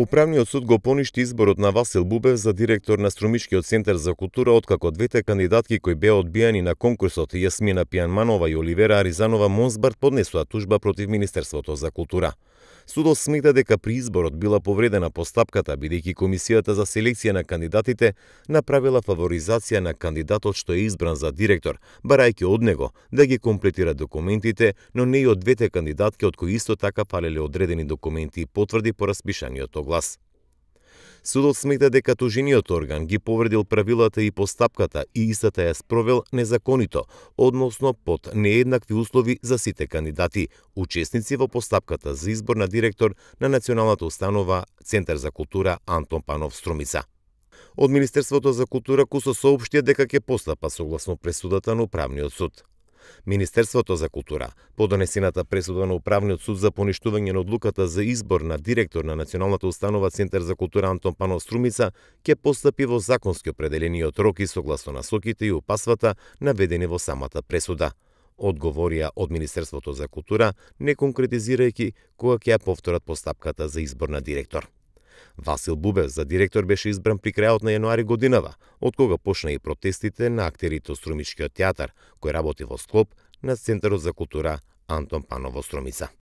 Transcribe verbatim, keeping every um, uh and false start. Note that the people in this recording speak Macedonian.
Управниот суд го поништи изборот на Васил Бубев за директор на Струмичкиот центар за култура, откако двете кандидатки кои беа одбијани на конкурсот, Јасмина Пијанманова и Оливера Аризанова Монсбарт, поднесоа тужба против Министерството за култура. Судот смета дека при изборот била повредена постапката, бидејќи комисијата за селекција на кандидатите направила фаворизација на кандидатот што е избран за директор, барајќи од него да ги комплетира документите, но не и од двете кандидатки од кои исто така фалеле одредени документи, потврди по распишаниот оглас. Судот смета дека тужениот орган ги повредил правилата и постапката и истата ја спровел незаконито, односно под нееднакви услови за сите кандидати, учесници во постапката за избор на директор на Националната установа Центар за култура Антон Панов Струмица. Од Министерството за култура кусо соопштија дека ќе постапа согласно пресудата на Управниот суд. Министерството за култура, по донесената пресуда на Управниот суд за поништување на одлуката за избор на директор на Националната установа Центар за култура Антон Панов Струмица, ќе постапи во законски определениот рок и согласно насоките и упасвата наведени во самата пресуда. Одговорија од Министерството за култура, не конкретизирајќи кога ќе ја повторат постапката за избор на директор. Васил Бубев за директор беше избран при крајот на јануари годинава, од кога почна и протестите на актерите од Струмичкиот театар, кој работи во склоп на Центарот за култура Антон Панов во Струмица.